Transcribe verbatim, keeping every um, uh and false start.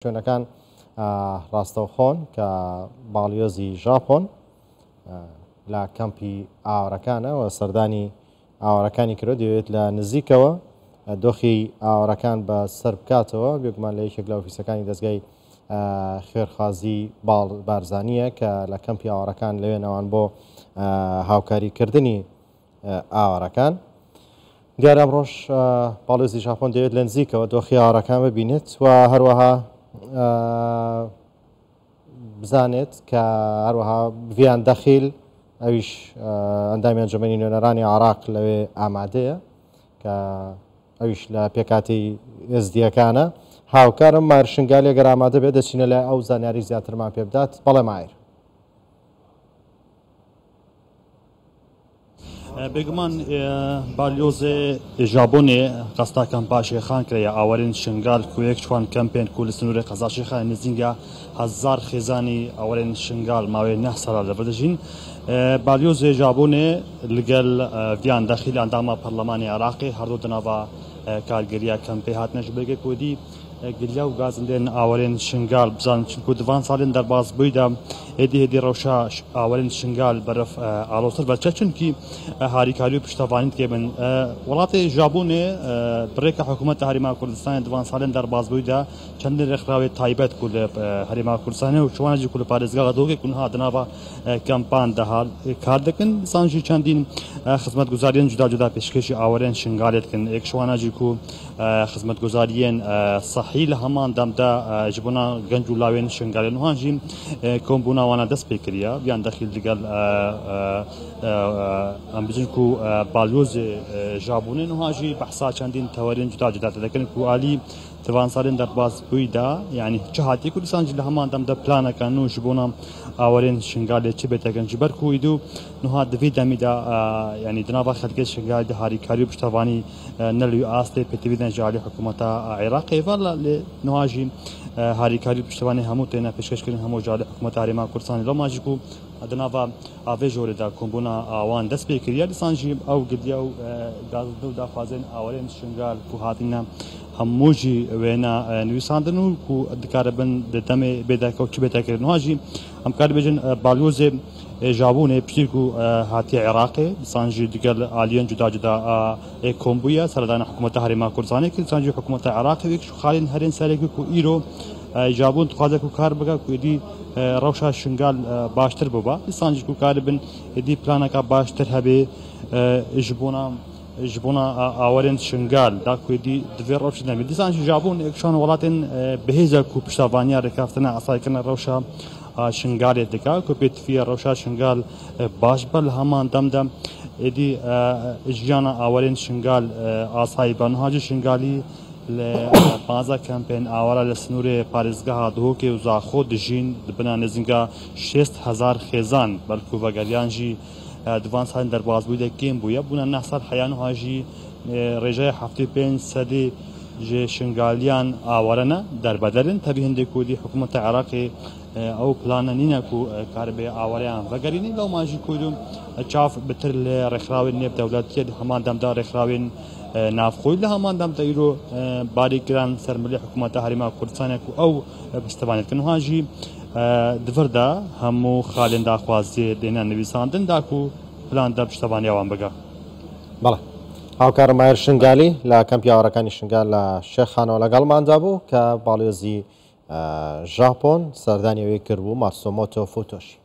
شوێنەکان ڕاستەوخۆن کە باڵیۆزی ژاپۆن لە کەمپی ئاوارەکانەوە سەردانی ئاوارەکانی کرد، دەوێت لە نزیکەوە دۆخی ئاوارەکان بە سەر بکاتەوە. بێگومان لە یەکێک لە ئۆفیسەکانی دەستگای خێرخوازی بارزانیە کە لە کەمپی ئاوارەکان لەوێنەوان بۆ هاوکاریکردنی ئاوارەکان. دیارە ئەمڕۆژ باڵیۆزی ژاپۆن دەوێت لە نزیکەوە دۆخی ئاوارەکان ببینێت و هەروەها بزانێت کە هەروەها ڤیان دەخیل ئەویش ئەندامی ئەنجومەنی نوێنەرانی عراق لەوێ ئامادەیە کە ئەویش لە پێکاتی ئێزدیەکانە. هاوکارم ماهر شنگالی ئەگەر ئامادە بێت دەچینە لای ئەو زانیاری زیاترمان پێ بدات. بەڵێ ماهر. بێگومان بالیۆزێ ژاپۆنێ قەستا کەمپا شێخان کرایە ئاوارین شنگال کویەک چوان کەمپێن کو لە سنوورێ قەزا شێخان نزینگە هەزار خێزانی ئاوارین شنگال ماوەی نە ساڵ لەبەر دەژین. بالیۆزێ ژاپۆنێ لەگەل ڤیان دەخیل ئەندامە پەرلەمانی عێراقی هەردوو دەناوە کارگەریە کەمپێ هاتنە ژبێگە کۆدی گلیا و گازندێن ئاوارین شنگال بزان چونکو دوان ساڵێن دەرباز بوویدا هێدی هێدی ڕەوشە ئاوارین شنگال بەرەف ئالۆزتر بەچە چونکی هاریکاری و پشتەوانی تێبن. وڵاتی ژاپۆنێ بڕێکە حکوومەت هەرێما کوردستانی دوان ساڵێن دەرباز بوویدا چەندین ڕێکخراوی تایبەت کو لە هەرێما کوردستانی و چوانجی کو لە پارێزگا دۆکێ کونها دناوە کەمپان دەهال کار دەکەن. سانجی چەندین خزمەتگوزاریان جودا جودا پێشکەشی ئاوارین شنگالێ دەکەن. یەک شوانەجی کو خزمەتگوزاریان صحی لە هەمان دەمدا ji bona genc û lawên Şingalê nihan jî kombûna wana dest pê kiriye yan dexîl digel em bijin ku balyozê Japonê niha jî behsa çendîn tewerên cuda cuda te dikin ku alî divan salên derbas bûyî da yanî çi hatiye ku dîsan jî li heman dem de planeke nû ji bona awarên Şingalê çi bêtekin ji ber ku îdû niha di vê demî de yanî di nava xelkê Şingalê de harîkarî û piştevanî ne li wî astê pêtivî ji alî hikûmeta Iraqê ve lê niha jî harîkarî û piştevanî hemû têne pêşkeşkirin hemû ji alî hikûmeta Herêma Kurdistanê. Loma jî ku di nava avê jorê de kombûna wan dest pê kiriye dîsan jî ew gidiya û gazinde û daxwazên awarên Şingal ku hatine hemû jî wêne nivîsandin û ku dikaribin di demê bêdeke û çi bêtekirin. Niha jî em kar dibêjin balyozê Japonê piştî ku hatiye Iraqê dîsan jî digel aliyên cuda cuda ê kombûye seredana hikûmeta Herêma Kurdistanê kir dîsan jî hikûmeta Iraqê wek ji xalên herên serekî ku îro Japon dixwaze ku kar bike ku êdî rewşa Şingal baştir bibe dîsan jî ku karibin êdî planeke baştir hebe ji bona ji bona awarên Şingal da ku êdî divê rewşê nemî. Dîsan jî Japon yekşan welatên bihêza ku piştevaniya rêkeftina asayîkirina rewşa Şingalê dike ku pêtifiya rewşa Şingal baş be li heman dem de êdî jiyana awarên Şingal asayî be. Niha jî Şingalî li pazdeh kempên awara li sinûrê parêzgeha Duhokê û Zaxo dijîn dibina nêzinga şêst hezar xêzan belkû vegeriyan jî divan salên derbasbûyî de kêm bûye bûne neh sal heya niha jî rêjeya heftê pênc sedê ji Şingaliyan aware ne derbederin tevî hindê ku dî hikûmeta Iraqê ew plana nîne ku karibe awareyan vegerînê lewma jî ku çav bitir li rêxrawên nêv dewletiye di heman dem de rêxrawên navxoyî li heman dem de îro barî kiran ser milê hikûmeta Herêma Kurdistanê ku ew piştevanê dikin. Niha jî di vir de hemû xalên daxwaziyê dêne nivîsandin da ku plan de piştevaniya wan bike. بەڵێ هاوکارم ماهر شنگالی لە کەمپی ئاوارەکانی شنگال لە شێخانەوە لەگەڵماندا بوو کە باڵیۆزی ژاپۆن سەردانی ئەوەی کردبوو ماتسۆمۆتۆ فوتۆشی.